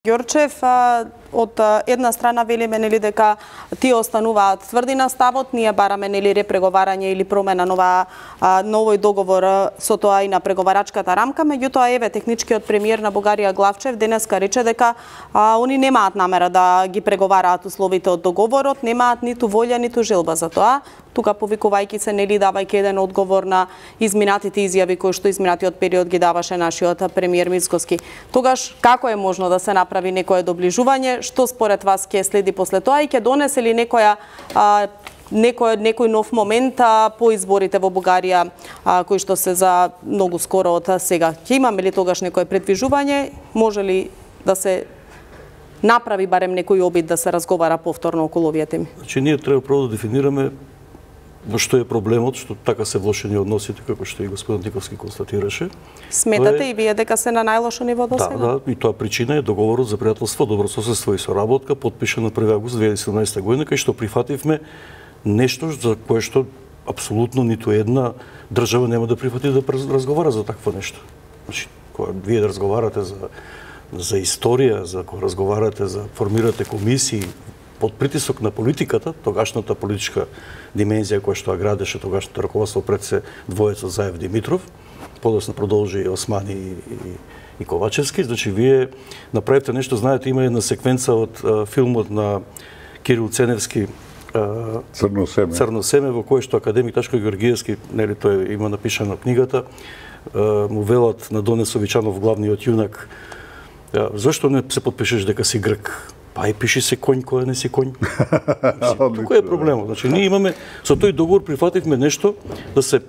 Ѓорчев, од една страна велиме нели дека тие остануваат тврди на ставот, ние бараме нели репреговарање или промена на овој договор со тоа и на преговарачката рамка, меѓутоа еве техничкиот премиер на Бугарија Главчев денеска рече дека они немаат намера да ги преговараат условите од договорот, немаат ниту волја ниту желба за тоа. Тука повикувајќи се нели давајќи еден одговор на изминатите изјави кои што изминатиот период ги даваше нашиот премиер Мицкоски. Тогаш како е можно да се направи некое доближување? Што според вас ќе следи после тоа и ќе донесе ли некој нов момент по изборите во Бугарија кои што се за многу скоро од сега? Ќе имаме ли тогаш некое предвижување? Може ли да се направи барем некој обид да се разговара повторно околу овие теми? Значи ние треба прво да дефинираме во што е проблемот, што така се влошени односите, како што и господин Диковски констатираше. Сметате и вие дека се на најлошо ниво до сега? Да, и тоа причина е договорот за пријателство, добрососедство и соработка, подпишан на 1 август 2017 година, кај што прифативме нешто за кое што апсолутно ниту една држава нема да прифати да разговара за такво нешто. Значи, кога вие да разговарате за историја, за кога разговарате за формирате комисии, под притисок на политиката, тогашната политичка димензија која што ја градеше тогашното раководство пред се двојецот Заев Димитров, подоцна продолжи Османи и Ковачевски, значи вие направивте нешто, знаете, има една секвенца од филмот на Кирил Ценевски Црно семе, во кој што академик Ташко Георгиевски, нели тој има напишано книгата, му велат на Доне Совичанов, главниот јунак, зашто не се подпишеш дека си грк? Па и пиши се конј кога не си конј. Кој е проблемот? Значи ние имаме со тој договор прифативме нешто да се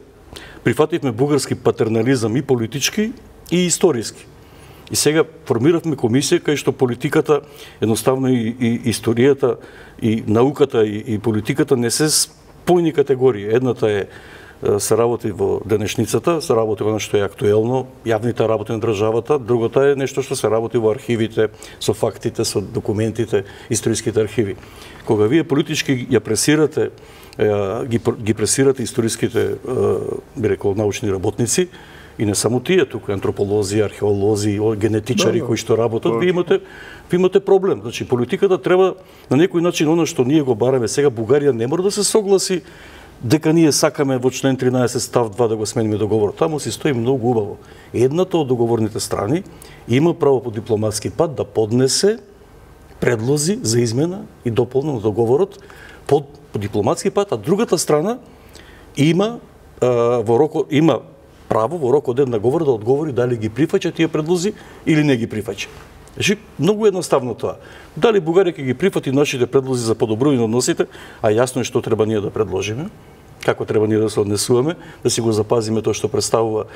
прифативме бугарски патернализам и политички и историски. И сега формиравме комисија кај што политиката едноставно и историјата и науката и политиката не се спојни категории. Едната е се работи во денешницата, се работи во нешто е актуелно, јавните работи на државата, другата е нешто што се работи во архивите, со фактите, со документите, историските архиви. Кога вие политички ја пресирате, ги пресирате историските, би рекол, научни работници, и не само тие, туку антрополози, археолози, генетичари кои што работат, ви имате проблем. Значи политиката треба на некој начин она што ние го бараме сега, Бугарија не мора да се согласи дека ние сакаме во член 13 став 2 да го смениме договорот. Таму си стои многу убаво. Едната од договорните страни има право по дипломатски пат да поднесе предлози за измена и дополнен на договорот по дипломатски пат, а другата страна има право во рок од една говор да одговори дали ги прифаќа тие предлози или не ги прифаќа. Значи, многу едноставно тоа. Дали Бугарија ќе ги прифати нашите предлози за подобрување на односите, а јасно е што треба ние да предложиме, како треба ние да се однесуваме, да си го запазиме тоа што представува,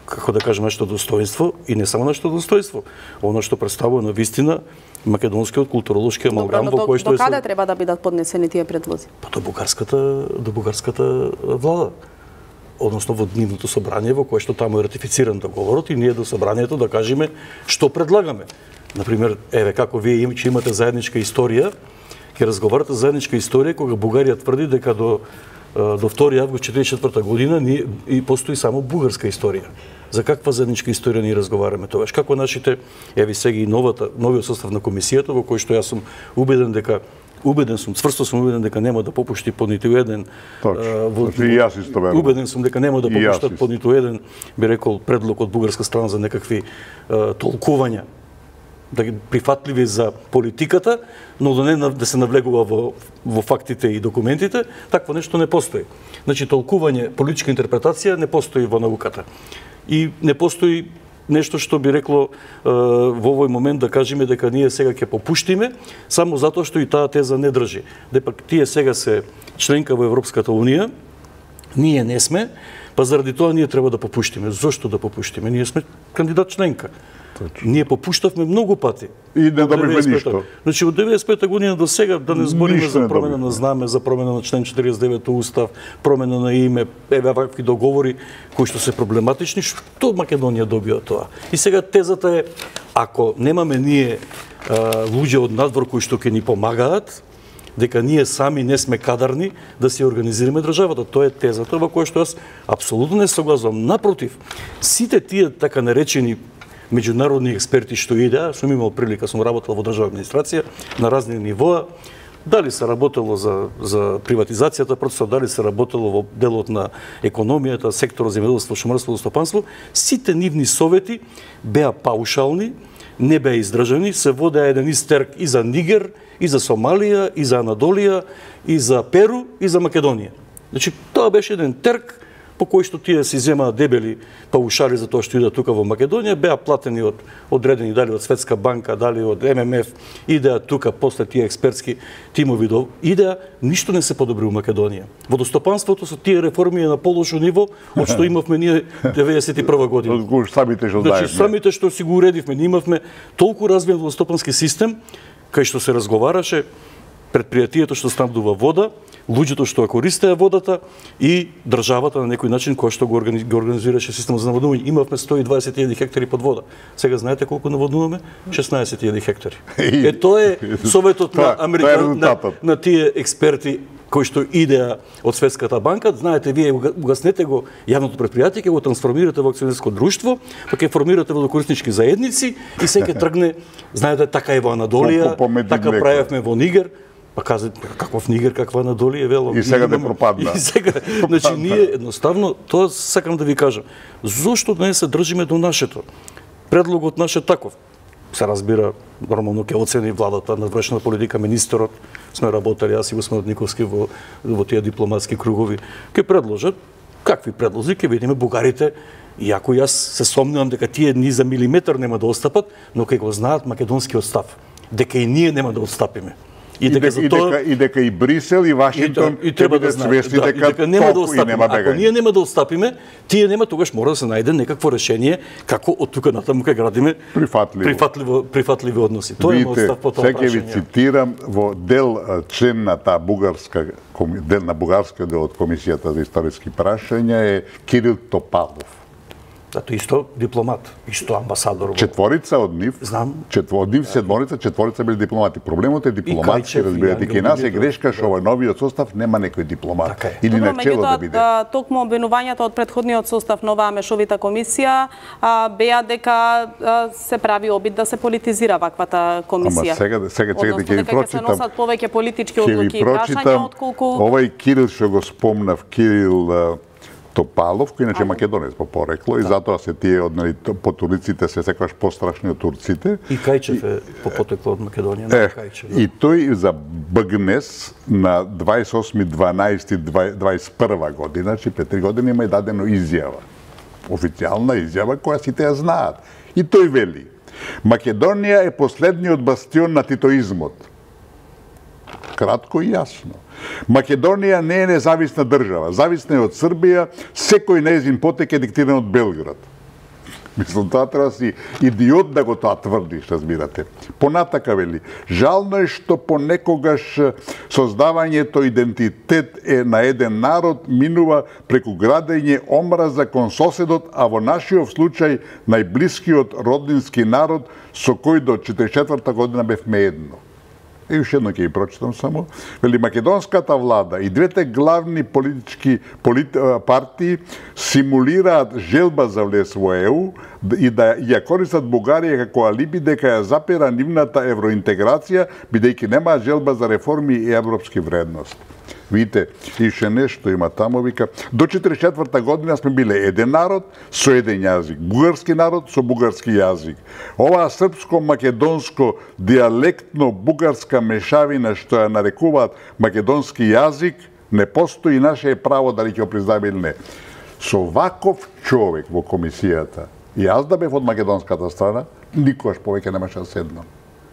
како да кажеме, нашето достоинство, и не само нашето достоинство, оно што представува на вистина македонскиот културолошки амалгам во кој што до каде треба да бидат поднесени тие предлози? Па до бугарската влада. Односно во Дневното собрание во кое што таму е ратифициран договорот и ние до собранието да кажеме што предлагаме. Например, еве како вие имате заедничка историја, ќе разговарате за заедничка историја кога Бугарија тврди дека до 2 август 1944 година и постои само бугарска историја. За каква заедничка историја ние разговараме тогаш? Како нашите, еве сега и новиот состав на комисијата во кој што јас сум цврсто сум убеден дека нема да попушти по ниту еден. Убеден сум дека нема да попуштат по ниту еден, би рекол, предлог од бугарска страна за некакви толкувања, да ги прифатливи за политиката, но да се навлегува во фактите и документите, такво нешто не постои. Значи толкување, политичка интерпретација не постои во науката. И не постои нешто што би рекло во овој момент да кажеме дека ние сега ќе попуштиме само затоа што и таа теза не држи. Депак тие сега се членка во Европската унија, ние не сме, па заради тоа ние треба да попуштиме. Зошто да попуштиме? Ние сме кандидат членка. Ние попуштавме многу пати. И не добивме ништо. Значи од 95-та година до сега да не збориме за промена на знаме, за промена на член 49 устав, промена на име, еве вакви договори кои што се проблематични, што Македонија добија тоа. И сега тезата е, ако немаме ние луѓе од надвор кои што ќе ни помагаат, дека ние сами не сме кадарни да си организираме државата. Тоа е тезата во која што јас апсолутно не согласувам. Напротив, сите тие така наречени меѓународни експерти што идеа, сум имал прилика, сум работел во државна администрација на разни нивоа, дали се работело за приватизацијата, процесот, дали се работело во делот на економијата, секторот земјоделство, шумарство, стопанство, сите нивни совети беа паушални, не беа издржани, се водеа еден истерк и за Нигер, и за Сомалија, и за Анадолија, и за Перу, и за Македонија. Значи, тоа беше еден терк по кој што тие си земаат дебели паушали за тоа што идат тука во Македонија, беа платени од одредени, дали од Светска банка, дали од ММФ, идеа тука после тие експертски тимови идеа, ништо не се подобри во Македонија. Водостопанството со тие реформи е на полошо ниво од што имавме ние 91 година. Самите што знаеме. Значи, самите што си го уредивме, ние имавме толку развиен водостопански систем, кај што се разговараше предпријатието што снабдува вода, луѓето што ја користеа водата и државата на некој начин која што го организираше системот за наводнување. Имавме 120.000 хектари под вода. Сега знаете колку наводнуваме? 16.000 хектари. Тоа е советот на Америка, на тие експерти кои што идеа од Светската банка. Знаете, вие угаснете го јавното предпријатие, ќе го трансформирате во акционерско друштво, па ќе формирате водокориснички заедници и се ќе тргне, знаете, така е во Анадолија, така правевме во Нигер. Па каза, каков Нигер, каква Анадолија, вело. И сега не пропадна. И сега, значи, ние едноставно, тоа сакам да ви кажам, зошто не се држиме до нашето? Предлогот наш е таков. Се разбира, нормално ќе оцени владата на вршна политика, министерот, сме работели, јас и Господин Никовски во тие дипломатски кругови, ќе предложат какви предлози, ќе видиме бугарите, иако јас се сомнувам дека тие ни за милиметар нема да отстапат, но ќе го знаат македонскиот став, дека и ние нема да отстапиме. И дека и Брисел и Вашингтон треба да свесни дека нема да отстапиме. Ако ние нема да отстапиме, тие нема, тогаш мора да се најде некакво решение како од тука натаму ќе градиме прифатливи односи. Тоа е мојот став по тоа прашање. Сега ви цитирам во дел член на таа бугарска дел од Комисијата за историски прашања е Кирил Топалов. Зато исто дипломат, исто амбасадор. Четворица од нив, од нив седморица, четворица били дипломати. Проблемот е дипломатски, разбирате, кај нас е грешка што во новиот состав нема некој дипломат или на чело да биде. Токму обвинувањата од претходниот состав на оваа мешовита комисија беа дека се прави обид да се политизира ваквата комисија. Ама сега ќе ви прочитам. Дека се носат повеќе политички одлуки и прашања отколку овај Кирил што го спомнав, Кирил Топалов, кој иначе македонец по порекло и затоа се тие од по турците се секогаш пострашни од турците. И Кајчев е по потекло од Македонија, Кајчев. И тој за БГНЕС на 28.12.21 година, значи пред 3 години има и дадено изјава. Официјална изјава која сите ја знаат. И тој вели: Македонија е последниот бастион на титоизмот. Кратко и јасно. Македонија не е независна држава, зависна е од Србија, секој нејзин потек е диктиран од Белград. Мислам, тоа треба си идиот да го тоа тврдиш, разбирате. Понатака вели: жално е што понекогаш создавањето идентитет е на еден народ минува преку градење омраза кон соседот, а во нашиот случај најблискиот роднински народ со кој до 44 година бевме едно. И уште едно ќе ги прочитам само. Вели: македонската влада и двете главни политички партии симулираат желба за влез во ЕУ и да ја користат Бугарија како алиби дека ја запира нивната евроинтеграција, бидејќи нема желба за реформи и европски вредности. Видите, ише нешто има таму, вика, до 44 година сме биле еден народ со еден јазик, бугарски народ со бугарски јазик. Оваа српско-македонско диалектно бугарска мешавина што ја нарекуваат македонски јазик, не постои и наше право дали ќе го признаме или не. Со ваков човек во комисијата, и јас да бев од македонската страна, никогаш повеќе немаше да седнам.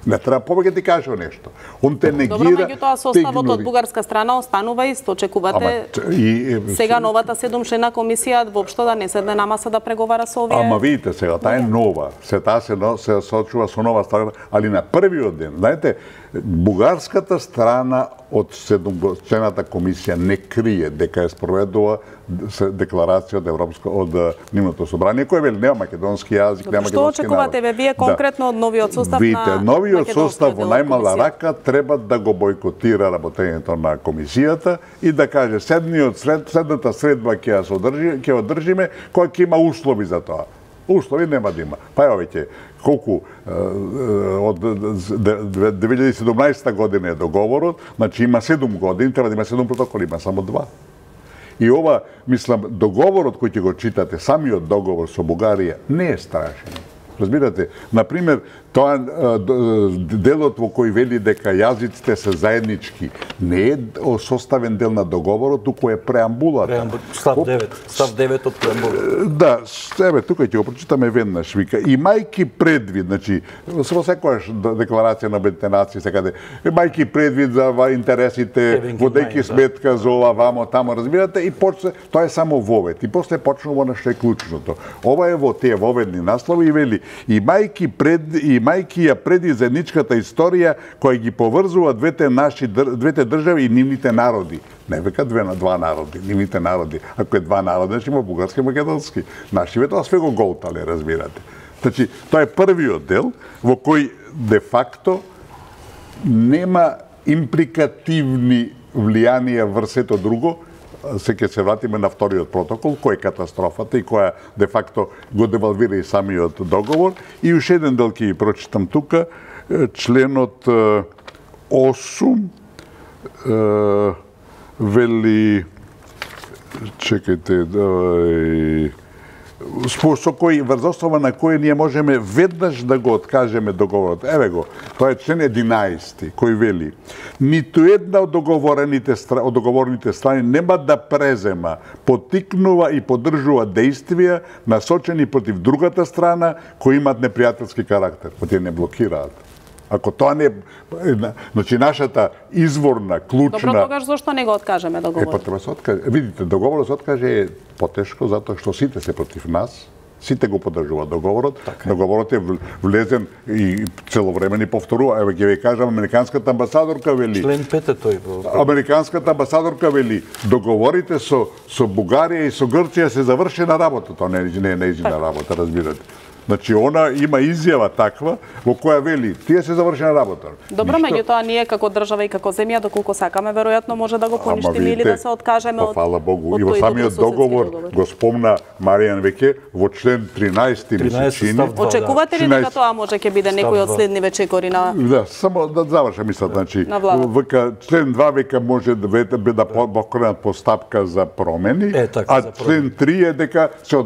Не треба повеќе ти кажа нешто. Он те негира. Добро, меѓутоа составот од бугарска страна останува исто. Очекувате сега новата 7-члена комисија воопшто да не седне на маса да преговара со овие. Ама видите сега, таа е нова. Таа се сочува со нова страна, али на првиот ден, знаете, бугарската страна од 7-члената комисија не крие дека ја спроведува декларација од Европско од нивното собрание кој вели нема македонски јазик, нема македонски народ. Што очекувате вие конкретно од новиот состав на македонскиот? Новиот состав во најмала рака треба да го бойкотира работењето на комисијата и да каже следната средба ќе ја одржиме, која ќе има услови за тоа. Услови нема да има. Па ево веќе колку од 2017 година е договорот, значи има 7 години, треба да има 7 протоколи, има само 2. И ова, мислам, договорот кој ќе го читате, самиот договор со Бугарија не е страшен. Разбирате, например, тоа делот во кој вели дека јазиците се заеднички не е составен дел на договорот, туку е преамбулата. Став 9 од преамбулата. Да, еве тука ќе го прочитаме веднаш, вика, имајки предвид, значи, со секојаш декларација на Обединетите нации секаде, имајки предвид за интересите, водејќи сметка за ова, вамо, тамо, разбирате, и почне, тоа е само вовед, и после почнува на што е клучното. Ова е во тие воведни наслови и вели, имајки ја преди заедничката историја која ги поврзува двете држави и нивните народи. Не века два народи, нивните народи. Ако е два народи, значи има бугарски и македонски. Нашиве тоа све го голтале, разбирате. Значи, тоа е првиот дел во кој де факто нема импликативни влијанија врз сето друго. Се ќе се вратиме на вториот протокол, кој е катастрофата и која де факто го девалвира и самиот договор. И уште еден дел ќе ги прочитам тука, членот 8 вели, чекајте, со кој врз основа на кој ние можеме веднаш да го откажеме договорот. Еве го, тоа е член 11 кој вели: ниту една од договорните страни нема да презема, поттикнува и поддржува действија насочени против другата страна кои имаат непријателски карактер, кои тие не блокираат. Ако тоа не, значи нашата изворна, клучна... Добро, тогаш зошто не го откажеме договорот? Па треба се откаже. Видите, договорот се откаже е потешко затоа што сите се против нас, сите го поддржуваат договорот. Договорот е влезен и целовремени повторува. Еве ќе ви кажам, американската амбасадорка вели... Член 5 е тој. Американската амбасадорка вели, договорите со Бугарија и со Грција се завршена работа. Тоа не е нејзина работа, разбирате. Значи, она има изјава таква во која вели, тие се завршена работа. Добро, меѓутоа ние како држава и како земја, доколку сакаме, веројатно може да го поништиме или да се откажеме од... Фала Богу. И во самиот договор го спомна Маријан веќе во член 13 ми се чини. Очекувате ли дека тоа може ќе биде некој од следниве чекори на... Да, само да завршам мислат, значи, века член 2 века може да покренат постапка за промени, а член 3 е дека се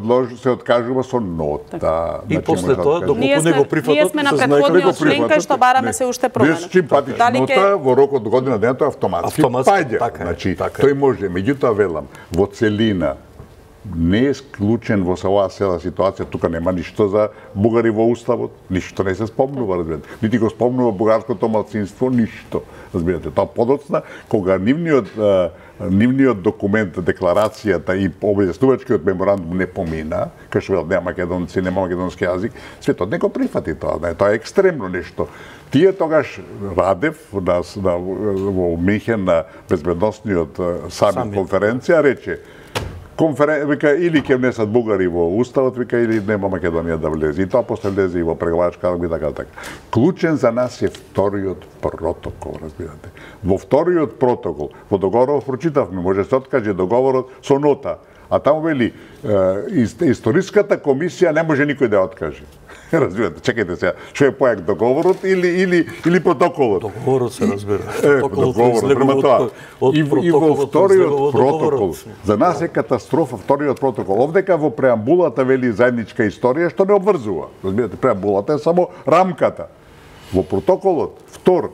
откажува со нота. И после тоа, доколку не го прифатат, ние сме на претходниот член кај што бараме се уште промена. Без симпатичнота, во рок од година дена тоа автоматски паѓа. Значи, тој може, меѓутоа велам, во целина не е склучен во оваа цела ситуација, тука нема ништо за бугари во уставот, ништо не се спомнува, разбирате. Нити го спомнува бугарското малцинство, ништо, разбирате. Тоа подоцна, кога нивниот документ, декларацијата и објаснувачкиот меморандум не помина, кај што нема македонци, нема македонски јазик, светот не го прифати тоа, тоа е екстремно нешто. Тие тогаш Радев во Михен на безбедносниот самит конференција рече, вика, или ќе внесат бугари во уставот, вика, или нема Македонија да влезе. И тоа после влезе и во преговарачка рамка и така. Клучен за нас е вториот протокол, разбирате. Во вториот протокол, во договорот прочитавме, може се откаже договорот со нота, а таму вели, историската комисија не може никој да ја откаже. Разбирате, чекајте сега, што е појак договорот или протоколот? Договорот се разбира. Договорот, према тоа. И во вториот протокол, за нас е катастрофа вториот протокол. Овдека во преамбулата вели заедничка историја, што не обврзува. Разбирате, преамбулата е само рамката. Во протоколот, втор,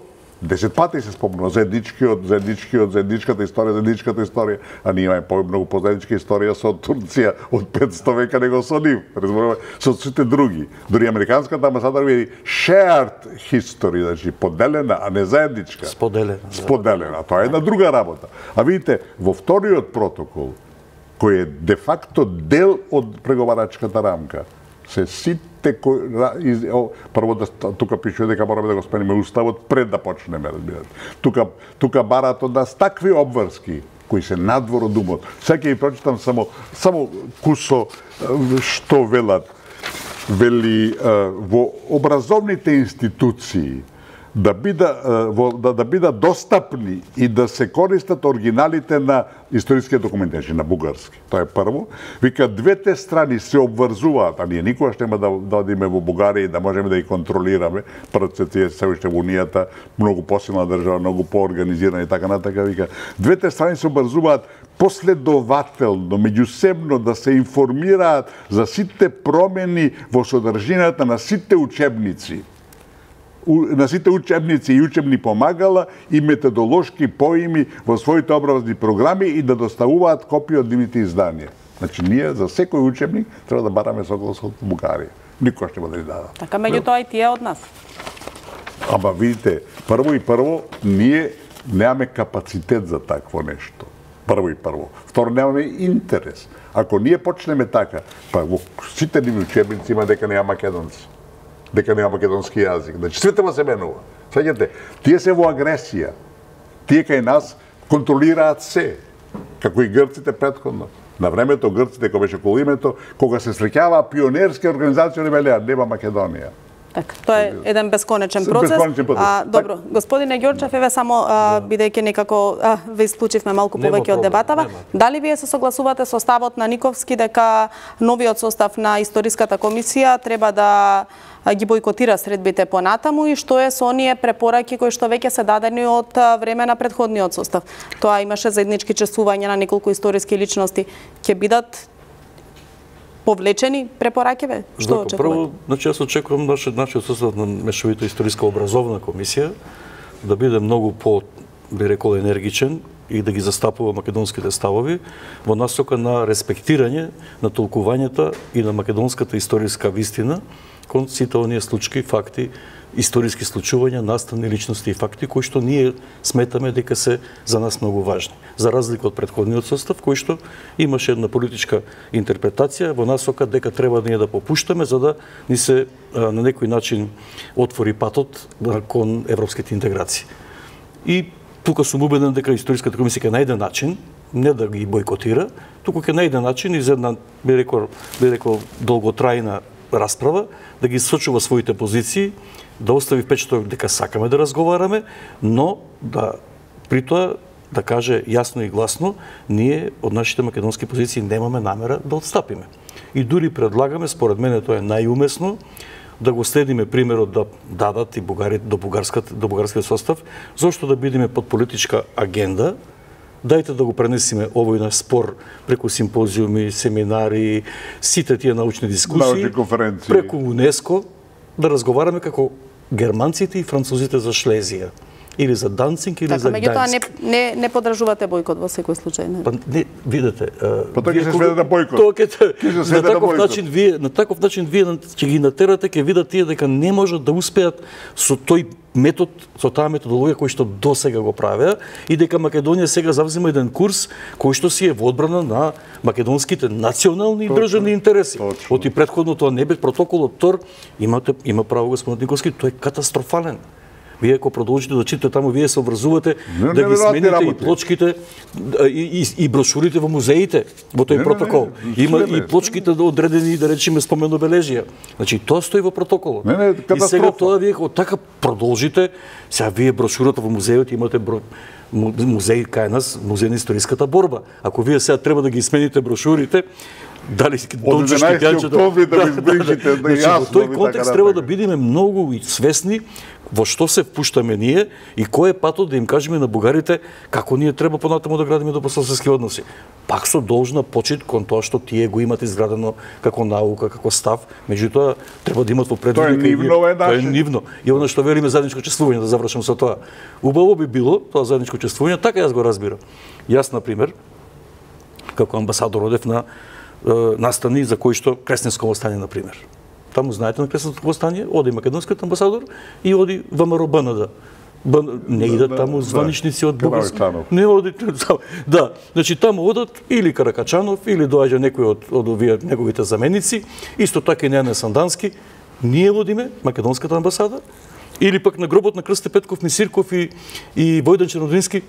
10 пати се спомнува заедничката историја, а ние имаме помногу позаедничка историја со Турција од 500 века него со нив, разбираме, со сите други. Дори американската амбасадора вели shared history, значи поделена, а не заедничка. Споделена. Тоа е една друга работа. А видите, во вториот протокол, кој е де факто дел од преговарачката рамка, се сите прво тука пишува дека мораме да го спениме уставот пред да почнеме, разбирате. Тука бараат од нас такви обврски кои се надвор од умот. Сега ќе ви прочитам само кусо што велат. Вели во образовните институции да бидат достапни и да се користат оригиналите на историските документи, на бугарски. Тоа е прво. Вика, двете страни се обврзуваат, а ние никогаш нема да одиме во Бугарија и да можеме да ги контролираме, праците се уште во Унијата, многу посилна држава, многу поорганизирана и така натака. Вика, двете страни се обврзуваат последователно, меѓусебно да се информираат за сите промени во содржината на сите учебници и учебни помагала и методолошки поими во своите образовни програми и да доставуваат копии од нивните изданија. Значи, ние за секој учебник треба да бараме соглас од Бугарија. Никош нема да ни дадат. Така, меѓутоа и тие од нас. Ама видите, прво, ние немаме капацитет за такво нешто. Прво. Второ, немаме интерес. Ако ние почнеме така, па во сите нивни учебници има дека нема македонци, дека нема македонски јазик. Значи, светова се менува. Сваѓате, тие се во агресија. Тие кај нас контролираат се, како и грците претходно. На времето грците, кога беше околу името, кога се среќаваа пионерски организации, они велеа, нема Македонија. Така, тоа е еден бесконечен процес. Добро, господине Ѓорчев, еве само бидејќи некако ве исклучивме малку повеќе од дебатава, дали вие се согласувате со ставот на Никовски дека новиот состав на историската комисија треба да ги бојкотира средбите понатаму и што е со оние препораки кои што веќе се дадени од време на претходниот состав? Тоа имаше заеднички чествувања на неколку историски личности. Ќе бидат повлечени препоракиве? Што очекувате? Прво, значи јас очекувам нашиот состав на мешовита историска образовна комисија да биде многу би рекол енергичен и да ги застапува македонските ставови во насока на респектирање на толкувањата и на македонската историска вистина кон сите оние случаи, факти, историски случувања, наставни личности и факти кои што ние сметаме дека се за нас многу важни. За разлика од претходниот состав кој што имаше една политичка интерпретација во насока дека треба ние да попуштаме за да ни се на некој начин отвори патот кон европските интеграции. И тука сум убеден дека историската комисија ќе најде начин не да ги бојкотира, туку ќе најде начин из една би рекол долготрајна расправа да ги сочува своите позиции, да остави впечаток дека сакаме да разговараме, но да при тоа да каже јасно и гласно, ние од нашите македонски позиции немаме намера да отстапиме. И дури предлагаме, според мене тоа е најумесно, да го следиме примерот да дадат и до бугарскиот состав, зошто да бидеме под политичка агенда. Дајте да го пренесиме овој наш спор преку симпозиуми, семинари, сите тие научни дискусии, преку УНЕСКО, да разговараме како германците и французите за Шлезија. Или за Данцинг, или за Гдајнск. Меѓутоа не подржувате бојкот во секој случај, не? Па не, видете, па тоа ќе се сведе на бојкот. На таков начин вие ќе ги натерате, ќе видат тие дека не можат да успеат со тој метод, со таа методологија кој што досега го правеа и дека Македонија сега завзема еден курс кој што си е во одбрана на македонските национални и државни интереси. Оти претходно тоа не бе протоколот ТОР, има право господин Никовски, тој е катастрофален. Вие ако продолжите да читате таму, вие се обврзувате да ги смените и плочките и брошурите во музеите во тој протокол. Има и плочките одредени, да речеме, споменобележија. Значи тоа стои во протоколот. И сега тоа вие ако така продолжите, сега вие брошурата во музејот имате музеј кај нас, музеј на историската борба. Ако вие сега треба да ги смените брошурите, дали од 11 октомври да ги избрижите, да јасно. Во тој контекст треба да бидеме многу свесни во што се впуштаме ние и кој е патот да им кажеме на бугарите како ние треба понатаму да градиме добрососедски односи. Пак со должна почит кон тоа што тие го имат изградено како наука, како став, меѓутоа треба да имат во предвид дека тоа е нивно. И она што велиме заедничко чествување, да завршам со тоа. Убаво би било тоа заедничко чествување, така јас го разбирам. Јас на пример како амбасадор одев на настани за кои што Кресненско востание на пример. Таму знаете на Кресненското востание, оди македонскиот амбасадор и оди ВМРО БНД. Не идат таму званичници од бугарски. Не оди. Да, значи таму одат или Каракачанов или доаѓа некој од овие неговите заменици, исто така и Нене Сандански. Ние водиме македонската амбасада или пак на гробот на Крсте Петков, Мисирков и Војдан Чернодински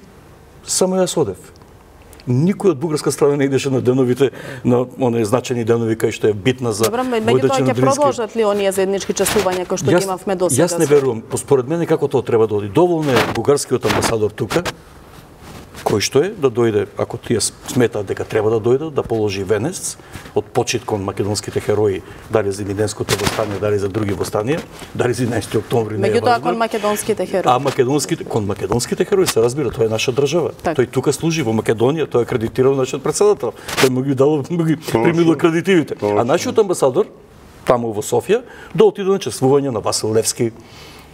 само јас одев. Никој од бугарска страна не идеше на деновите, на оние значени денови кај што е битна за Меѓутоа ќе продолжат ли оние заеднички чествувања кои што ги имавме досега? Јас не верувам. Според мене како тоа треба да оди. Доволно е бугарскиот амбасадор тука, кој што е, да дојде, ако тие сметаат дека треба да дојдат, да положи венец од почит кон македонските херои, дали за Илинденското востание, дали за други востанија, дали за 11 октомври, не е важно. Меѓутоа кон македонските херои. Кон македонските херои се разбира, тоа е наша држава. Так. Тој тука служи во Македонија, тој е акредитирал нашиот председател. Тој му ги дал, примил акредитивите. А нашиот амбасадор таму во Софија да отиде на чествување на Васил Левски,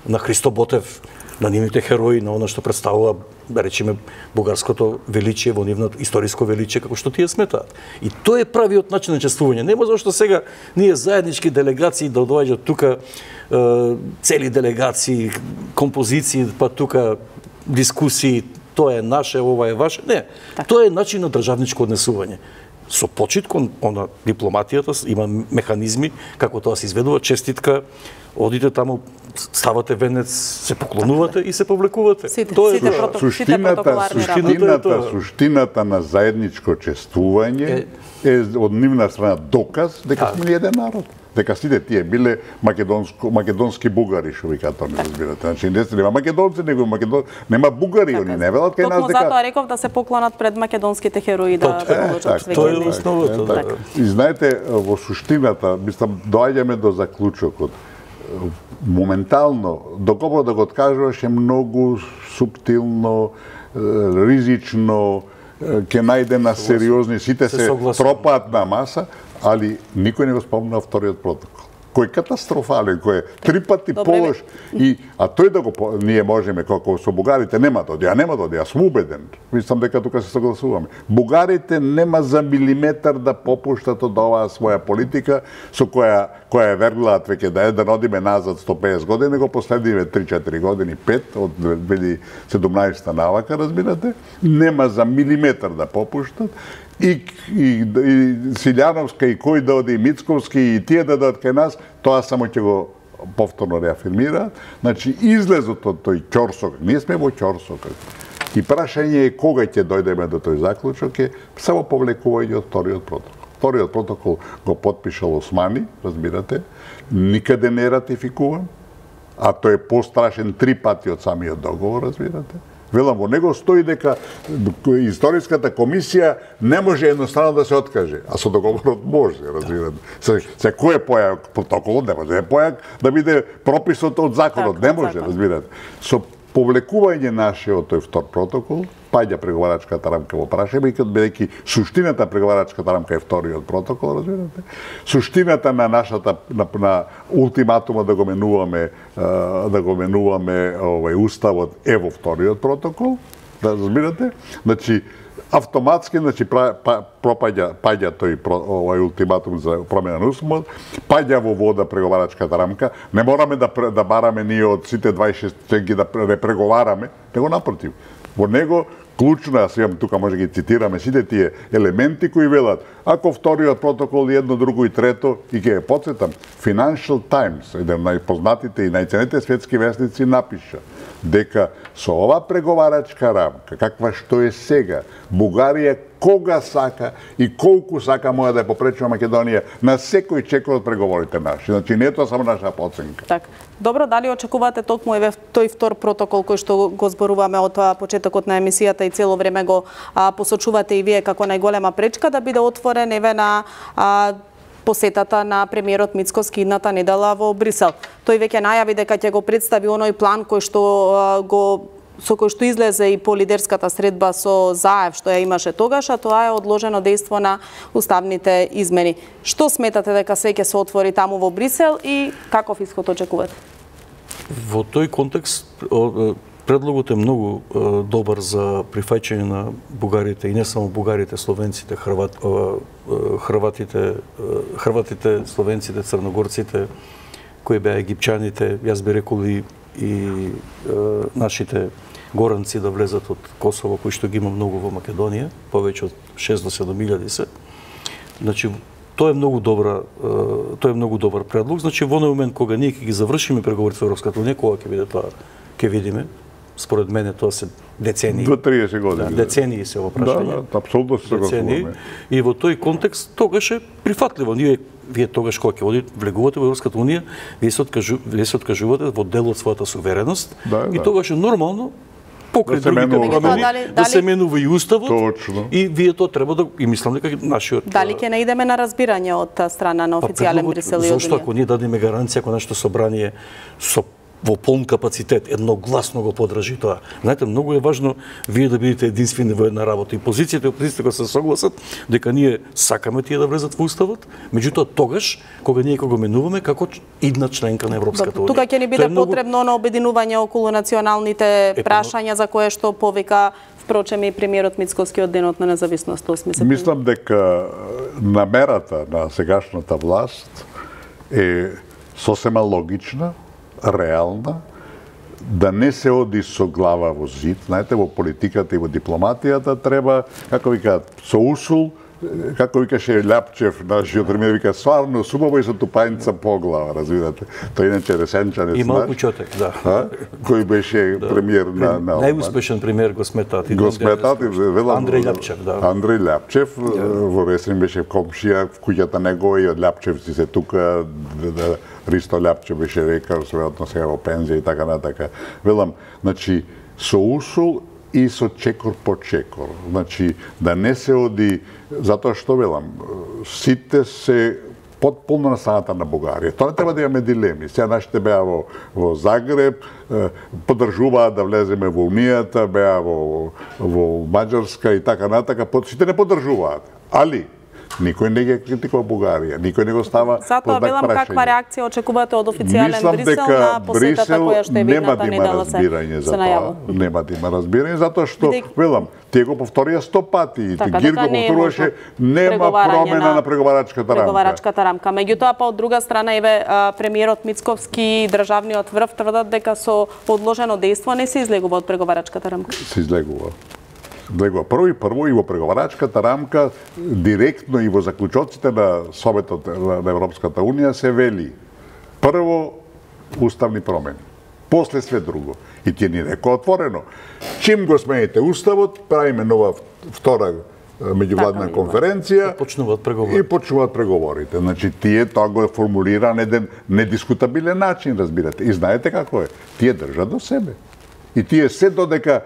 на Христо Ботев, на нивните херои, на она што представува, да речеме, бугарското величие, во нивното историско величие, како што тие сметаат. И тоа е правиот начин на чествување. Нема зашто сега ние заеднички делегации да доаѓаат тука, цели делегации, композиции, па тука дискусии, тоа е наше, ова е ваше. Не, тоа е начин на државничко однесување. Со почит кон она дипломатијата има механизми како тоа се изведува, честитка, одите таму, ставате венец, се поклонувате и се повлекувате. Суштината на заедничко чествување е од нивна страна доказ дека сме еден народ. Дека сите тие биле македонски бугари, што викаат тоа, разбирате. Значи не нема македонци, него нема бугари, они не велат кај нас дека. Токму затоа реков да се поклонат пред македонските херои да положат свеќе. Тоа е основата. И знаете, во суштината, мислам, доаѓаме до заклучокот. Моментално, доколку да го откажуваш е многу суптилно, ризично, ќе најде на сериозни, сите се тропаат на маса, али никој не го спомна вториот протокол. Кој е катастрофален, кој е 3 пати полош, а тој да го ние можеме како со бугарите нема да оди, јас сум убеден. Мислам дека тука се согласуваме. Бугарите нема за милиметар да попуштат од оваа своја политика со која е верглаат веќе да одиме назад 150 години, него последниве 3-4 години, 5 од 2017 навака, разбирате, нема за милиметар да попуштат. И Силјановска, и кој да оди, и Мицковски, и тие да дадат кај нас, тоа само ќе го повторно реафирмираат. Значи, излезот од тој ќорсок, ние сме во ќорсок. И прашање е кога ќе дојдеме до тој заклучок е само повлекување од вториот протокол. Вториот протокол го потпишал Османи, разбирате, никаде не е ратификуван, а тој е пострашен 3 пати од самиот договор, разбирате. Велам, во него стои дека историската комисија не може едноставно да се откаже, а со договорот може, разбирате. Се кој е појак протоколот, не може да е појак да биде прописот од законот, не може, разбирате. Со повлекување нашиот тој втор протокол, паѓа преговарачката рамка во прашање, бидејќи суштината преговарачката рамка е вториот протокол, разбирате. Суштината на нашата на ултиматума да го менуваме уставот е во вториот протокол, да разбирате. Значи автоматски паѓа тој ултиматум за промена на уставот, паѓа во вода преговарачката рамка. Не мораме да бараме ние од сите 26 членки да не преговараме, него напротив. Во него клучно, јас имам тука, може ги цитираме сите тие елементи кои велат, ако вториот протокол едно, друго и трето, и ќе ја потсетам, Financial Times, еден од најпознатите и најценетите светски весници, напиша дека со ова преговарачка рамка, каква што е сега, Бугарија кога сака и колку сака може да ја попречува Македонија на секој чекор од преговорите наши. Значи не е тоа само наша оценка. Так. Добро, дали очекувате токму еве тој втор протокол кој што го зборуваме од почетокот на емисијата и цело време го посочувате и вие како најголема пречка да биде отворен еве на посетата на премиерот Мицковски идната недела во Брисел. Тој веќе најави дека ќе го представи оној план со кој што излезе и по лидерската средба со Заев што ја имаше тогаш, а тоа е одложено дејство на уставните измени. Што сметате дека све ќе се отвори таму во Брисел и каков исход очекувате? Во тој контекст предлогот е многу добар за прифаќање на бугарите и не само бугарите, словенците, хрватите, словенците, црногорците, кои беа египчаните, јас би рекол и нашите горанци да влезат од Косово, кои што ги има многу во Македонија, повеќе од 6 до 7.000 се. Значи, тоа е многу добар предлог. Значи, во момент кога ние ќе ги завршиме преговорите со Европската унија, кога ќе биде тоа, ќе видиме. Според мене тоа се децении. До 30 години. Да, децении се во прашање. Да, апсолутно се согласуваме. И во тој контекст тогаш е прифатливо. Вие тогаш кога ќе влегувате во Европската унија, вие се откажувате во дел од својата сувереност и тогаш е нормално покрај другите промени да се менува и уставот. Точно. И вие тоа треба да и мислам дека нашиот Дали ќе наидеме на разбирање од страна на официјален Брисел и од Зошто ако ние дадеме гаранција, ако нашето собрание со во полн капацитет едногласно го подржи тоа. Знаете, многу е важно вие да бидете единствени во една работа. И позицијата и опозицијата кога се согласат дека ние сакаме тие да влезат во уставот, меѓутоа тогаш кога ние го менуваме како идна членка на Европската унија. Тука ќе ни биде потребно на обединување околу националните прашања за кое што повика впрочем и премиерот Мицкоски од денот на независност 8 септември. Мислам дека намерата на сегашната власт е сосема логична, реална, да не се оди со глава во зид. Знаете, во политиката и во дипломатијата треба, како викаат, со усул, како викаше Лјапчев, нашиот премиер, вика, сварно субаво и со тупаница по глава, разбирате. Тој иначе Ресенчанец и малку Чотек, да. Кој беше премиер на најуспешен премиер го сметат. Го сметат, Андреј Лјапчев, да. Андреј Лјапчев, во Ресен беше комшија, в куќата него и од Лјапчевци се тука, Ристо Лјапчев беше рекар, веројатно сега во пензија и така натака. Велам, значи, со усул и со чекор по чекор. Значи, да не се оди, затоа што велам, сите се потполно на страната на Бугарија. Тоа не треба да имаме дилеми. Сега нашите беа во Загреб, поддржуваа да влеземе во Унијата, беа во Маđарска и така натака, сите не поддржуваат. Али, никој не ги критикува Бугарија, никој не го става под знак прашање. Затоа велам каква реакција очекувате од официјален Брисел на посетата која што е видната недела се најавува. Нема да има разбирање, затоа што, велам, тие го повторија 100 пати, и Гир го повторуваше, нема промена на преговарачката рамка. Меѓутоа, па од друга страна, еве, премиерот Мицковски и државниот врв тврдат дека со одложено дејство не се излегува од преговарачката рамка. Се излегува. Прво и во преговарачката рамка, директно и во заклучоците на Советот на Европската унија се вели прво уставни промени, после све друго. И тие ни рекоа отворено. Чим го смените уставот, правиме нова втора меѓувладна конференција и почнуваат преговорите. Значи, тие тоа го формулира на еден недискутабилен начин, разбирате. И знаете како е. Тие држат до себе. И тие се додека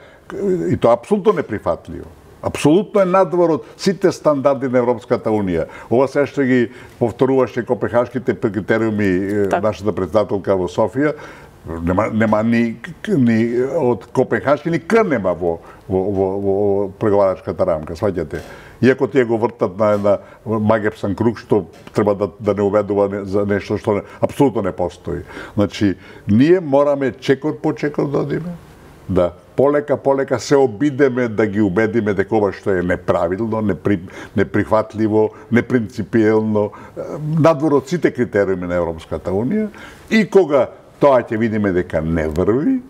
и тоа апсолутно неприфатливо. Апсолутно е надвор од сите стандарди на Европската унија. Ова се што ги повторуваше копенхашките критериуми нашата председателка во Софија, нема ни од копенхашки ни К нема во преговарачката рамка, сваќате. Иако тие го вртат на една магепсан круг што треба да не уведува за нешто што апсолутно не постои. Значи, ние мораме чекор по чекор да одиме, да полека се обидеме да ги убедиме дека ова што е неправилно, неприфатливо, непринципиелно, надвор од сите критериуми на Европската унија, и кога тоа ќе видиме дека не врви,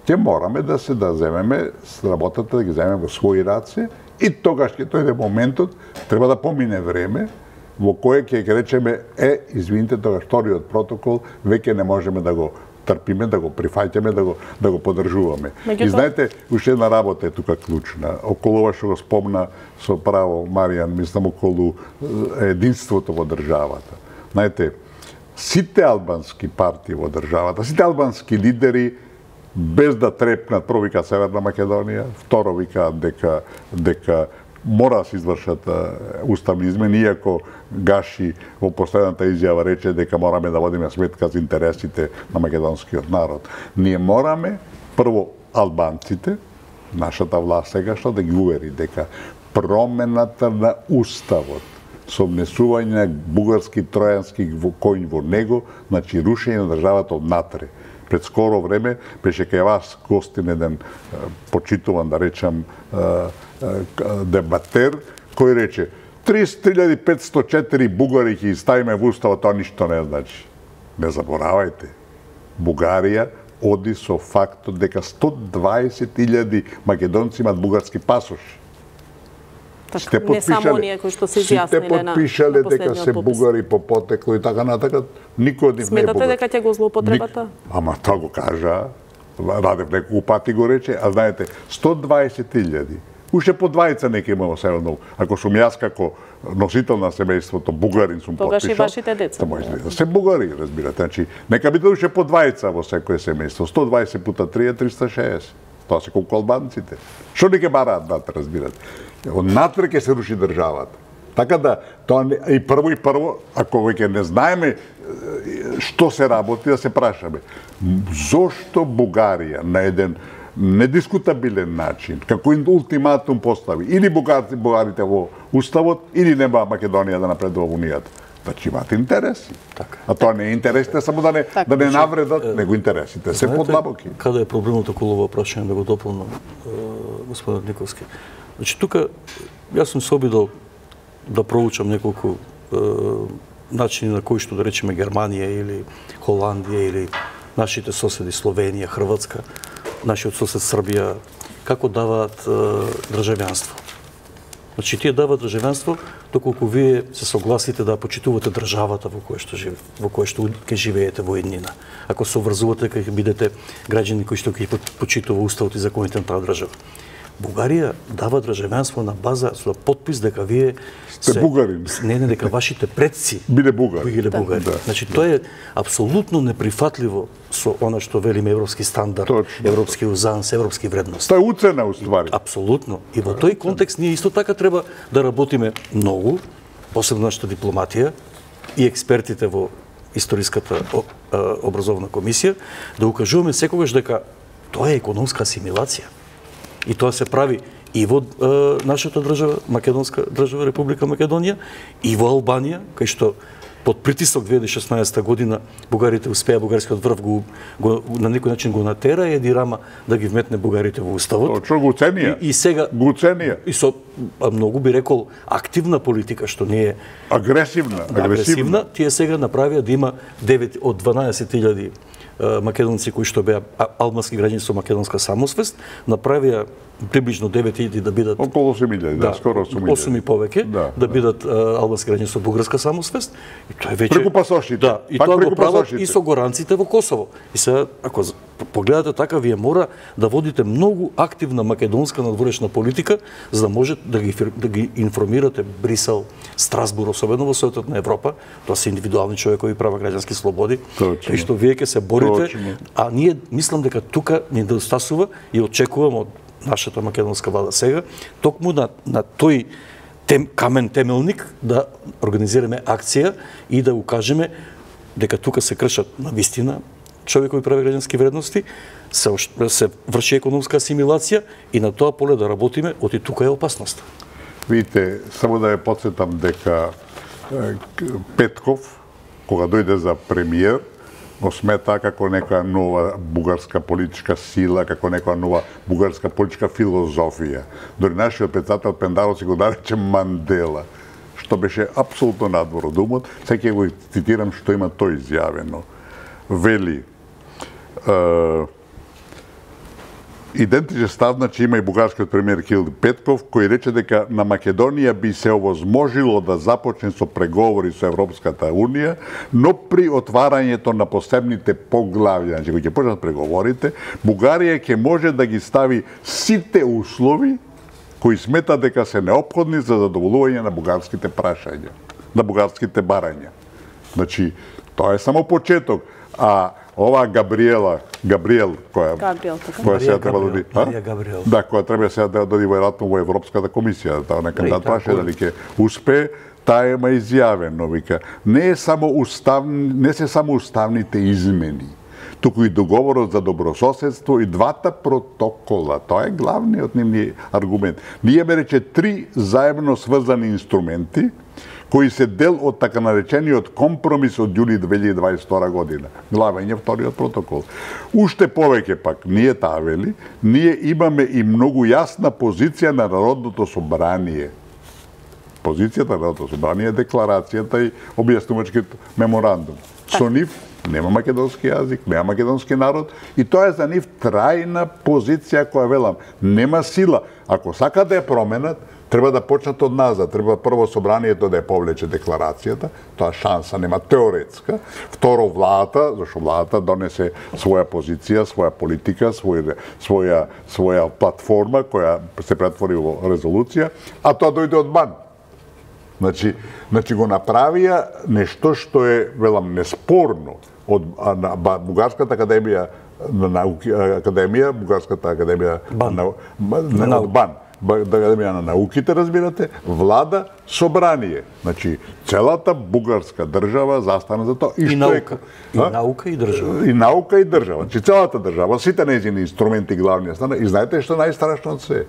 ќе мораме да земеме работата, да ги земеме во своји раце, и тогаш ќе дојде моментот, треба да помине време, во кое ќе речеме, извините, тогаш вториот протокол веќе не можеме да го трпиме, да го прифаќаме, да го поддржуваме. И знаете, уште една работа е тука клучна. Околу ова што го спомна со право Маријан, мислам, околу единството во државата. Знаете, сите албански партии во државата, сите албански лидери, без да трепнат, прво вика Северна Македонија, второ вика дека мора да се извршат уставни измени, иако Гаши во последната изјава рече дека мораме да водиме сметка за интересите на македонскиот народ. Ние мораме, прво, албанците, нашата власт сегашна, да ги увери дека промената на уставот со внесување на бугарски тројански коњ во него, значи рушење на државата однатре. Пред скоро време беше кај вас гостин еден почитуван, да речам, дебатер, кој рече 33.504 бугари ќе ставиме во уставот, тоа ништо не значи. Не заборавајте, Бугарија оди со фактот дека 120.000 македонци имат бугарски пасоши. Не само оние кои што се изјасниле на последниот попис. Сите подпишале дека се бугари по потекло и така натака, никој од нив не е бугар. Сметате дека ќе го злоупотребата? Ама тоа го кажа Радев неколку пати го рече, а знаете, 120.000. Уште по двајца нека има во Северно. Ако сум јас како носител на семејството, бугарин сум тогаш потпишал. и вашите деца. Се бугари, разбирате. Значи, нека биде уште по двајца во секое семејство. 120 пута 3 е 360. Тоа се колку албанците. Што не ќе бараат дата, разбирате? Однатре ќе се руши државата. Така да, тоа и прво, ако веќе не знаеме што се работи, да се прашаме. Зошто Бугарија на еден недискутабилен начин, како ултиматум постави, или бугарите во Уставот, или нема Македонија да напредува во Унијата. Значи имаат интереси. Така. А тоа не е интересите само да не навредат, него интересите се подлабоки. Каде е проблемот околу ова прашање, да го дополнам, господин Николски? Значи тука јас сум се обидел да проучам неколку начини на кои што да речеме Германија или Холандија или нашите соседи Словенија, Хрватска, нашиот сосед Србија, како даваат државјанство. Значи, тие даваат државјанство доколку вие се согласите да почитувате државата во која што ќе живеете во еднина. Ако се обврзувате, ќе бидете граѓани кои што ќе почитува уставот и законите на таа држава. Бугарија дава државјанство на база со потпис дека вие сте бугарин. Не, дека вашите предци биле бугари. Биле бугари. Да. Значи тоа е апсолутно неприфатливо со она што велиме европски стандард, Точно. Европски узанс, европски вредности. Тоа е уцена уствари. Апсолутно. И во тој контекст ние исто така треба да работиме многу, посебно нашата дипломатија и експертите во историската образовна комисија, да укажуваме секогаш дека тоа е економска асимилација. И тоа се прави и во нашата држава, македонска држава, Република Македонија, и во Албанија, кај што под притисок 2016 година бугарите успеа, бугарскиот врв го на некој начин го натера Еди Рама да ги вметне бугарите во уставот. Точно, го ценија. И сега го ценија. И со многу би рекол активна политика, што не е агресивна. Тие сега направија да има 9 од 12.000 македонци кои што беа албански граѓани со македонска самосвест, направија приближно 9.000 да бидат околу 8.000, да, скоро 8.000. 8 и повеќе да бидат албански граѓани со бугарска самосвест. И тоа е веќе преку пасошите. Да, и тоа го прават и со горанците во Косово. И сега ако погледате така, вие мора да водите многу активна македонска надворешна политика за да може да ги информирате Брисел, Страсбур, особено во Советот на Европа. Тоа се индивидуални човекови права, граѓански слободи. И што вие ќе се борите, а ние мислам дека тука ни недостасува и очекуваме од нашата македонска влада сега, токму на тој камен темелник да организираме акција и да укажеме дека тука се кршат на вистина човекови прави граѓански вредности, се врши економска асимилација и на тоа поле да работиме, оти тука е опасност. Видите, само да ја потсетам дека Петков, кога дојде за премиер, го смета како нека нова бугарска политичка сила, како нека нова бугарска политичка филозофија. Дори нашиот председател Пендаров си го нарече Мандела, што беше апсолутно надвор од умот. Сега ќе го цитирам што има тој изјавено. Вели, идентичен став, значи има и бугарскиот премиер Кирил Петков, кој рече дека на Македонија би се овозможило да започне со преговори со Европската Унија, но при отварањето на посебните поглавја, значи кои ќе почнат преговорите, Бугарија ќе може да ги стави сите услови кои смета дека се неопходни за задоволување на бугарските прашања, на бугарските барања. Значи, тоа е само почеток, а ова Габриел, која сега треба да оди, да, која треба сега да оди веројатно во Европската комисија, таа на кандидат праше дали ќе успее, таа ема изјавено, вика, не се само уставните измени, туку и договорот за добрососедство и двата протокола. Тоа е главниот нивни аргумент. Ние ме рече 3 заедно сврзани инструменти кои се дел од така наречениот компромис од јули 2022 година. Главен е вториот протокол. Уште повеќе пак, ние таа вели, ние имаме и многу јасна позиција на Народното собрание. Позицијата на Народното собрание е декларацијата и објаснувачкиот меморандум. Со нив нема македонски јазик, нема македонски народ и тоа е за нив трајна позиција која велам, нема сила. Ако сакат да ја променат, Треба да почнат од назад. Треба прво собранието да ја повлече декларацијата, тоа шанса нема теоретска. Второ, владата, зашто владата донесе своја позиција, своја политика, своја платформа која се претвори во резолуција, а тоа дојде од бан. Значи го направија нешто што е, велам, неспорно од Бугарската академија Бугарската академија на БАН. Академија на науките, разбирате, влада собрание. Значи, целата бугарска држава застана за тоа. И наука. И наука и држава. И наука и држава. Значи, целата држава, сите нејзини инструменти главни стана. И знаете што најстрашно од се?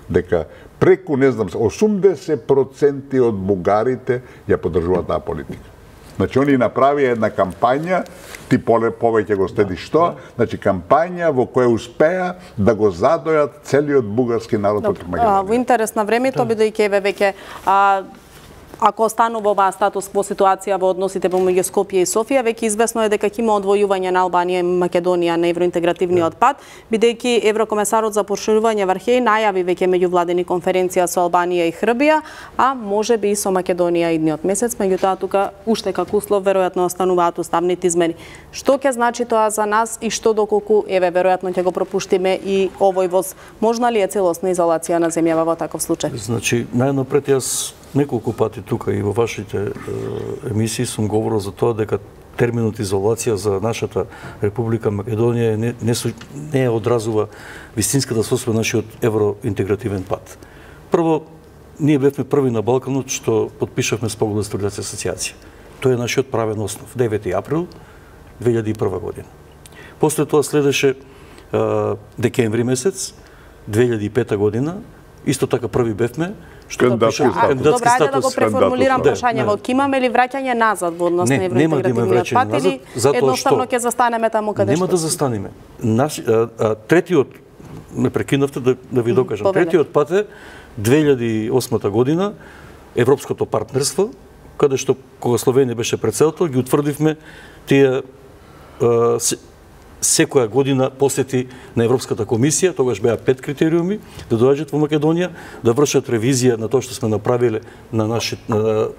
Дека преку, не знам, 80% од бугарите ја поддржуваат таа политика. Значи, они направија една кампања, ти повеќе го следиш тоа, значи кампања во која успеа да го задојат целиот бугарски народ против Македонија. Во интерес на времето, бидејќи еве веќе ако останува оваа статус кво ситуација во односите помеѓу Скопје и Софија, веќе известно е дека ќе има одвојување на Албанија и Македонија на евроинтегративниот пат, бидејќи еврокомесарот за проширување Вархеј најави веќе меѓувладени конференција со Албанија и Хрбија, а можеби и со Македонија идниот месец, меѓутоа тука уште како услов веројатно остануваат уставните измени. Што ќе значи тоа за нас и што доколку еве веројатно ќе го пропуштиме и овој воз? Можна ли е целосна изолација на земјава во таков случај? Значи, најнапред јас неколку пати тука и во вашите емисии сум говорил за тоа дека терминот изолација за нашата Република Македонија не одразува вистинската состојба нашиот евроинтегративен пат. Прво, ние бевме први на Балканот што подпишавме спогола за стабилизација и асоциација. Тој е нашиот правен основ. 9 април 2001 година. После тоа следеше декември месец 2005 година, исто така први бевме што кандидатски статус. Добра, ајде да го преформулирам прашањето. Имаме ли враќање назад во однос на евроинтегративниот пат или едноставно ќе застанеме таму каде што? Нема да застанеме. Третиот, ме прекинавте да ви докажам, третиот пат е 2008 година, Европското партнерство, каде што кога Словенија беше председател, ги утврдивме тие секоја година посети на Европската комисија, тогаш беа 5 критериуми, да доаѓаат во Македонија, да вршат ревизија на тоа што сме направиле на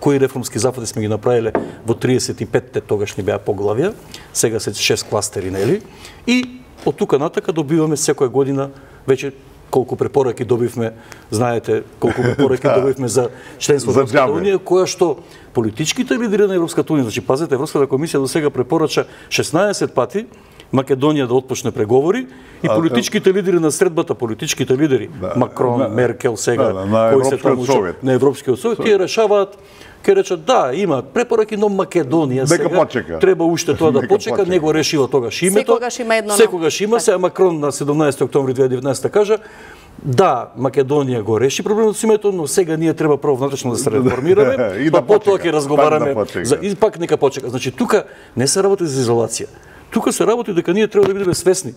кои реформски зафати сме ги направиле во 35-те тогашни беа поглавја, сега се 6 кластери, нели? И од тука натака добиваме секоја година веќе колку препораки добивме, знаете, колку препораки добивме за членство во Европската унија, која што политичките лидери на Европската унија, значи пазете, Европската комисија до сега препорача 16 пати Македонија да отпочне преговори и политичките лидери на средбата, политичките лидери, Макрон, Меркел сега, кои се таму на Европскиот совет, тие решаваат, ќе речат да, има препораки, но Македонија сега треба уште тоа да почека, не го решила тогаш името. Секогаш има, сега Макрон на 17 октомври 2019 кажа да, Македонија го реши проблемот со името, но сега ние треба прво внатрешно да се реформираме, па потоа ќе разговараме и пак нека почека. Значи тука не се работи за изолација. Тука се работи дека ние треба да бидеме свесни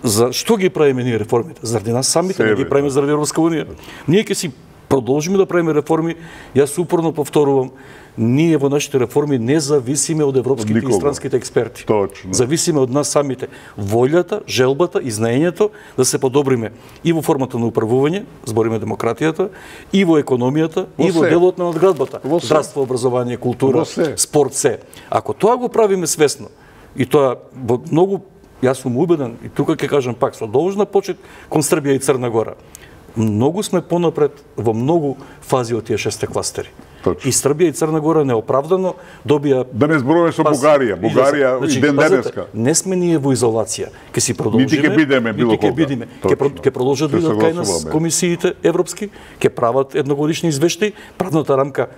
за што ги правиме ние реформите. Заради нас самите не ги правиме заради Европска унија. Ние ќе си продолжиме да правиме реформи. Јас упорно повторувам, ние во нашите реформи не зависиме од европските и странските експерти. Точно. Зависиме од нас самите. Волјата, желбата и знаењето да се подобриме и во формата на управување, збориме демократијата, и во економијата, и во делот на надградбата. Здравство, образование, култура, спорт, се. Ако тоа го правиме свесно, и тоа во многу, јас сум убеден, и тука ќе кажам пак, со должна почит кон Србија и Црна Гора. Многу сме понапред во многу фази од тие 6 кластери. И Србија и Црна Гора неоправдано добија... Да не зборуваме со Бугарија. Бугарија и ден денеска. Не сме ние во изолација. Ке си продолжиме. Нити ќе бидеме било кога. Ке продолжат да бидат кај нас комисиите европски, ке прават едногодишни извештаи, правната рамка,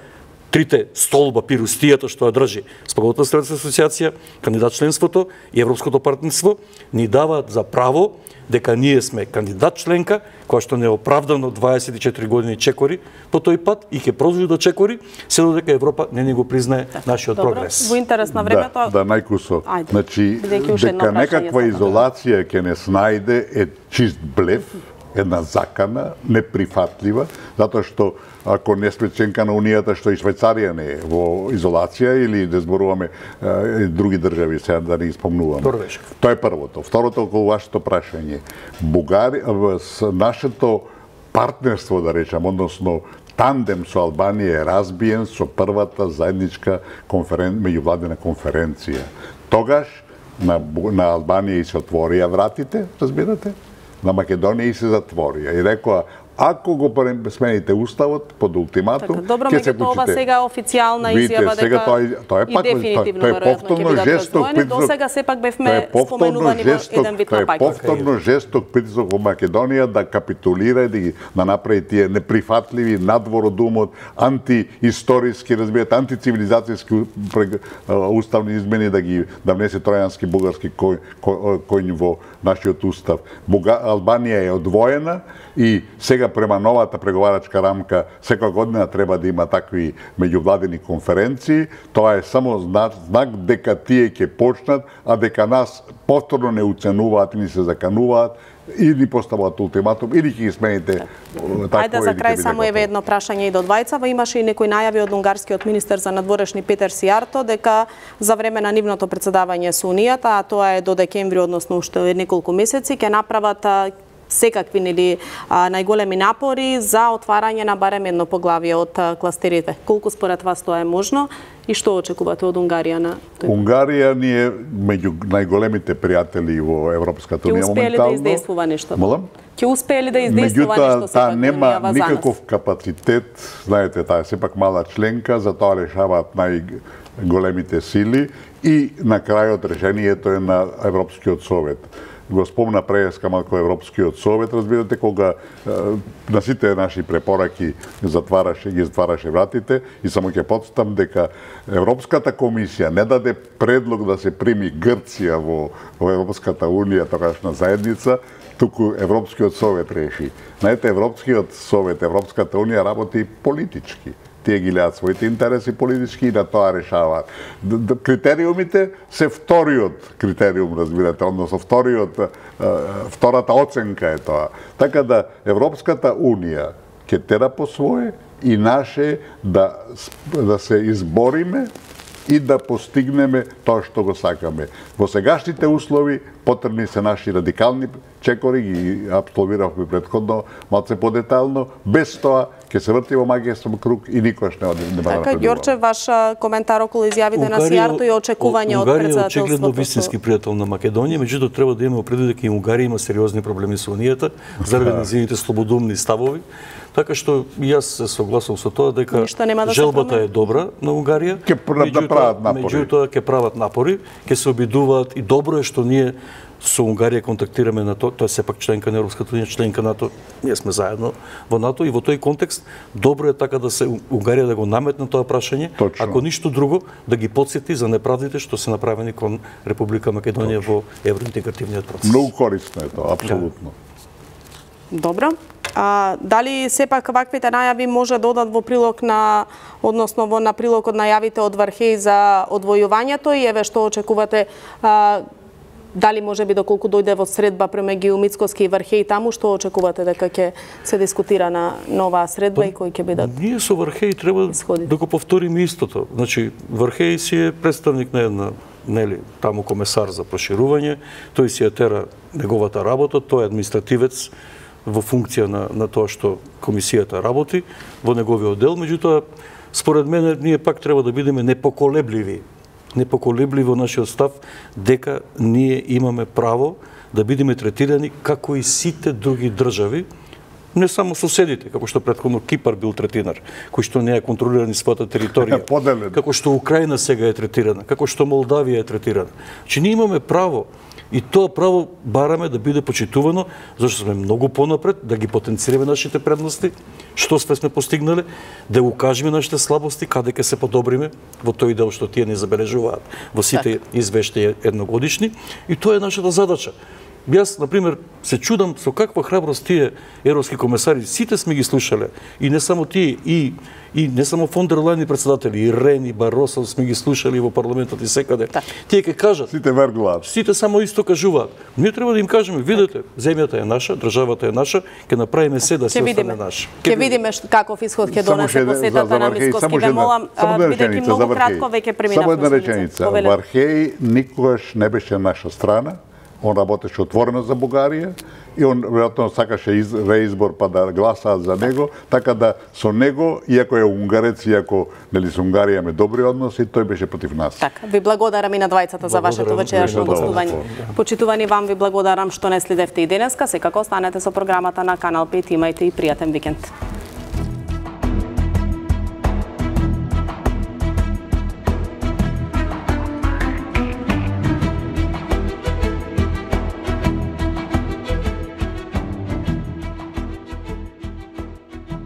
трите столба пирустијата што ја држи Споголата за стабилизација и асоциација, кандидат членството и Европското партнерство ни даваат за право дека ние сме кандидат членка, која што неоправдано 24 години чекори по тој пат и ќе продолжи да чекори, се додека Европа не ни го признае нашиот прогрес. Во интерес на времето... Да, најкусо. Значи, дека некаква изолација ќе не снајде е чист блеф, една закана, неприфатлива, затоа што ако не сме членка на Унијата, што и Швајцарија не е во изолација или да зборуваме други држави, сега да не испомнуваме. Тоа е првото. Второто, околу вашето прашање. Нашето партнерство, да речам, односно тандем со Албанија е разбиен со првата заедничка меѓувладина конференција. Тогаш на Албанија и се отворија вратите, разбирате, на Македонија и се затворија. И рекоа, ако го смените уставот под ултиматум, добро, ќе се меѓутоа ова сега е официјална изјава дека тоа е пак тоа е повторно жесток притисок. До сега сепак бевме споменувани во еден вид на пајка. Тоа е повторно жесток притисок во Македонија да капитулира и да направи тие неприфатливи надвор од умот, антиисториски, разбирате, антицивилизацијски уставни измени да внесе тројански бугарски коњ во нашиот устав. Албанија е одвоена и сега према новата преговарачка рамка секоја година треба да има такви меѓувладини конференции. Тоа е само знак дека тие ќе почнат, а дека нас повторно не уценуваат и ни се закануваат и ни поставуваат ултиматум или ќе ги смените. Ајде за крај само еве едно прашање и до двајцава. Имаше и некои најави од унгарскиот министер за надворешни Петер Сијарто дека за време на нивното председавање со Унијата, а тоа е до декември, односно уште неколку месеци, ќе направат секакви најголеми напори за отварање на барем едно поглавје од кластерите. Колку според вас тоа е можно и што очекувате од Унгарија на тој? Унгарија ни е меѓу најголемите пријатели во Европската унија моментално. Ќе успее ли да издействува нешто? Молам? Ќе успее ли да издействува нешто сепак во нема никаков капацитет, знаете, таа е сепак мала членка, затоа решаваат најголемите сили и на крајот решението е на Европскиот совет. Го спомна преска малку Европскиот совет, разбирате, кога на сите наши препораки ги затвараше вратите и само ќе потстам дека Европската комисија не даде предлог да се прими Грција во Европската унија, тогашна заедница, туку Европскиот совет реши. Знаете, Европскиот совет, Европската унија работи политички. Тие ги гледаат своите интереси политички и на тоа решаваат. Критериумите се вториот критериум, разбирате, односно втората оценка е тоа. Така да Европската унија ќе тера по свое и наше да се избориме и да постигнеме тоа што го сакаме. Во сегашните услови потребни се наши радикални чекори, ги апсолвиравме претходно, малце подетално, без тоа ќе се врти во магијски круг и никош не напредува. Така, Ѓорче, ваш коментар околу изјавите на Сијарто и очекување од председателството? Унгарија е очигледно вистински пријател на Македонија, меѓутоа треба да имаме предвид дека и Унгарија има сериозни проблеми со Унијата заради нејзините слободумни ставови. Така што и јас се согласувам со тоа дека желбата е добра на Унгарија. Меѓутоа ќе прават напори, ќе се обидуваат и добро е што ние со Унгарија контактираме на тоа е сепак членка на Европската унија, членка НАТО, ние сме заедно во НАТО и во тој контекст добро е така да се Унгарија да го наметне тоа прашање, ако ништо друго да ги потсети за неправдите што се направени кон Република Македонија во евроинтегративниот процес. Многу корисно е тоа, апсолутно. Добро. Дали сепак ваквите најави може да одат во прилог на, односно на прилог од најавите од Вархеј за одвојувањето и еве што очекувате, дали може би доколку дојде во средба премеѓу Мицкоски и Вархеј таму, што очекувате дека ќе се дискутира на оваа средба и кои ќе бидат? Ние со Вархеј треба да го повториме истото. Значи, Вархеј си е представник на една таму комесар за проширување, тој си ја тера неговата работа, тој е административец во функција на тоа што комисијата работи во неговиот дел, меѓутоа според мене ние пак треба да бидеме непоколебливи во нашиот став дека ние имаме право да бидеме третирани како и сите други држави, не само соседите, како што претходно Кипар бил третиран, кој што не е контролиран својата територија, како што Украина сега е третирана, како што Молдавија е третирана. Значи ние имаме право и тоа право бараме да биде почитувано, зашто сме многу понапред, да ги потенцираме нашите предности, што сме постигнале, да укажеме нашите слабости, каде ќе се подобриме во тој дел што тие не забележуваат во сите извештаи едногодишни, и тоа е нашата задача. Јас, например, се чудам со каква храброст тие европски комесари, сите сме ги слушале, и не само тие, и не само фон дер Лајен председатели, и Рен, и Баросо сме ги слушали во парламентот и секаде. Тие ќе кажат, сите верглаат. Сите само исто кажуваат. Ние треба да им кажеме, видете, земјата е наша, државата е наша, ќе направиме се да се остане наша. Ќе видиме каков исход ќе донесе посетата на Мицкоски. Ве молам, бидејќи многу кратко веќе преминавме. Само една реченица. Вархеј никогаш не беше наша страна. Он работеше отворено за Бугарија и он веројатно сакаше реизбор па да гласаат за него, така да со него, иако е унгарец, иако нели со Унгарија имаме добри односи, тој беше против нас. Така, ви благодарам и на двајцата за вашето вечерашно гостување. Почитувани, вам ви благодарам што не следевте и денеска, секако останете со програмата на Канал 5, имајте и пријатен викенд.